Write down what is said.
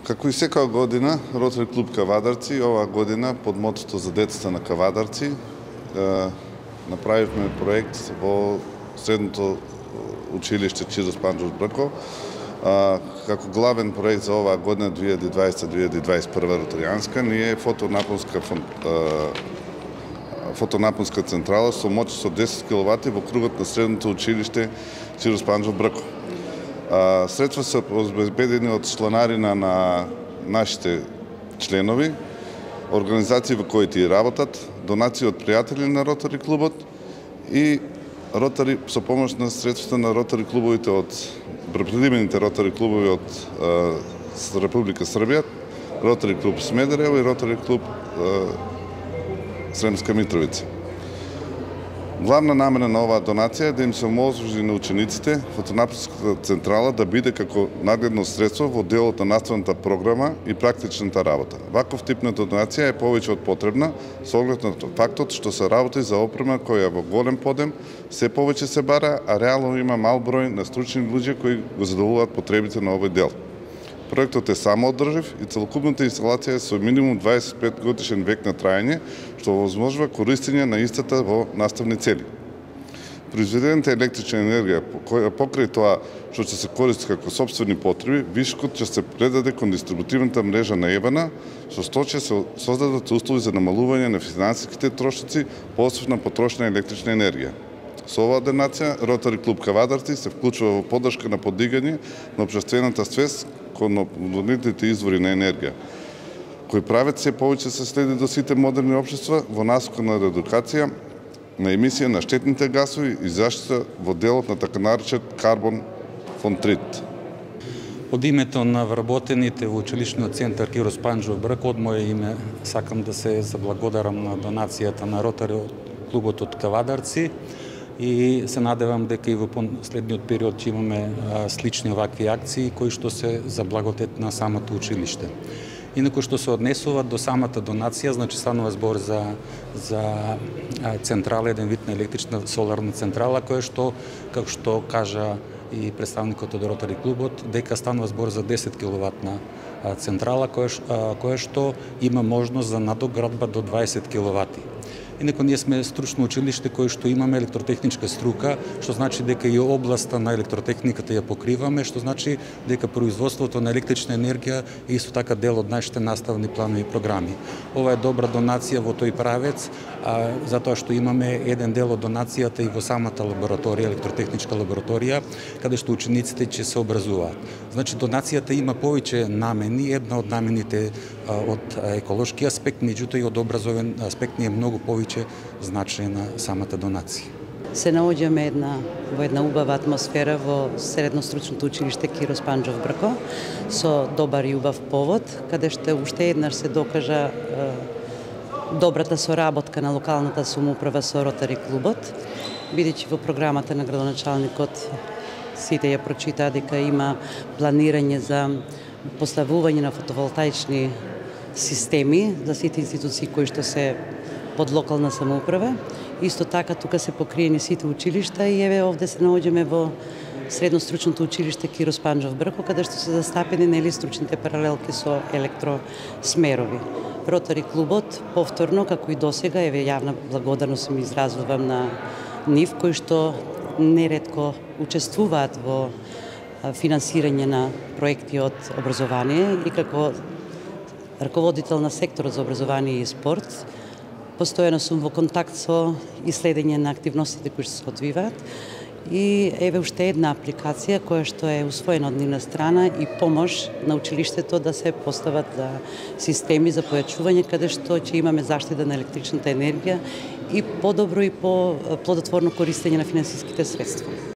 Како и секоја година, Ротари клуб Кавадарци, оваа година под мотото за децата на Кавадарци, направивме проект во средното училиште Чирос Панџов Брко, како главен проект за оваа година 2020-2021 ротаријанска, ние фотонапонска централа со моќ со 10 киловати во кругот на средното училиште Чирос Панџов Брко. Средства се обезбедени од чланарина на нашите членови, организации во кои и работат, донации од пријатели на Ротари клубот и ротари со помош на средствата на ротари клубовите од предимените ротари клубови од Република Србија, Ротари клуб Смедерево и Ротари клуб Сремска Митровица. Главна намера на оваа донација е да им се оможи на учениците фотонапонската централа да биде како нагледно средство во делот на наставната програма и практичната работа. Ваков тип на донација е повеќе од потребна со оглед на фактот што се работи за опрема која во голем подем се повеќе се бара, а реално има мал број на стручни луѓе кои го задоволуваат потребите на овој дел. Проектот е самоодржив и целокупната инсталација е со минимум 25 годишен век на траење, што овозможува користење на истата во наставни цели. Произведената електрична енергија, покрај тоа што ќе се користи како сопствени потреби, вишокот ќе се предаде кон дистрибутивната мрежа на ЕВН, со што ќе се создадат услови за намалување на финансиските трошоци по освојна потрошна електрична енергија. Со оваа донација, Ротари клуб Кавадарци се вклучува во поддршка на подигање на општествената свест кон обновливите извори на енергија, кои прават се повеќе се следи до сите модерни општества во насока на редукација на емисија на штетните гасови и заштита во делот на така наречен карбон фонтрит. Од името на вработените во училишниот центар Чирос Панџов Брко, од мое име сакам да се заблагодарам на донацијата на Ротари клубот од Кавадарци и се надевам дека и во последниот период ќе имаме слични овакви акции кои што се за благодет на самото училиште. Инаку што се однесува до самата донација, значи станува збор за централа, еден вид на електрична соларна централа, која што, како што кажа и представникот од Ротари клубот, дека станува збор за 10 киловатна централа, која што има можност за надоградба до 20 киловати. Инаку ние сме стручно училиште кој што имаме електротехничка струка, што значи дека и областа на електротехниката ја покриваме, што значи дека производството на електрична енергија е исто така дел од нашите наставни планови и програми. Ова е добра донација во тој правец, затоа што имаме еден дел од донацијата и во самата лабораторија, електротехничка лабораторија, каде што учениците ќе се образуваат. Значи донацијата има повеќе намени, една од намените од еколошки аспект, меѓутоа и од образовен аспект е многу повеќе значајна самата донација. Се наоѓаме во една убава атмосфера во средно-стручното училиште Чирос Панџов Брко со добар и убав повод, каде што уште еднаш се докажа добрата соработка на локалната самоуправа со Ротари клубот, бидејќи во програмата на градоначалникот сите ја прочитаа дека има планирање за поставување на фотоволтаични системи за сите институции кои што се под локална самоуправа. Исто така тука се покриени сите училишта и еве овде се наоѓаме во средно-стручното училиште Чирос Панџов Брко, каде што се застапени стручните паралелки со електросмерови. Ротари клубот повторно, како и досега, еве јавна благодарност им изразувам на нив, кои што неретко учествуваат во финансирање на проекти од образование и како раководител на секторот за образование и спорт, постојано сум во контакт со иследење на активностите кои се одвиваат и еве уште една апликација која што е усвоена од нивна страна и помош на училиштето да се постават системи за појачување каде што ќе имаме заштита на електричната енергија и подобро и по плодотворно користење на финансиските средства.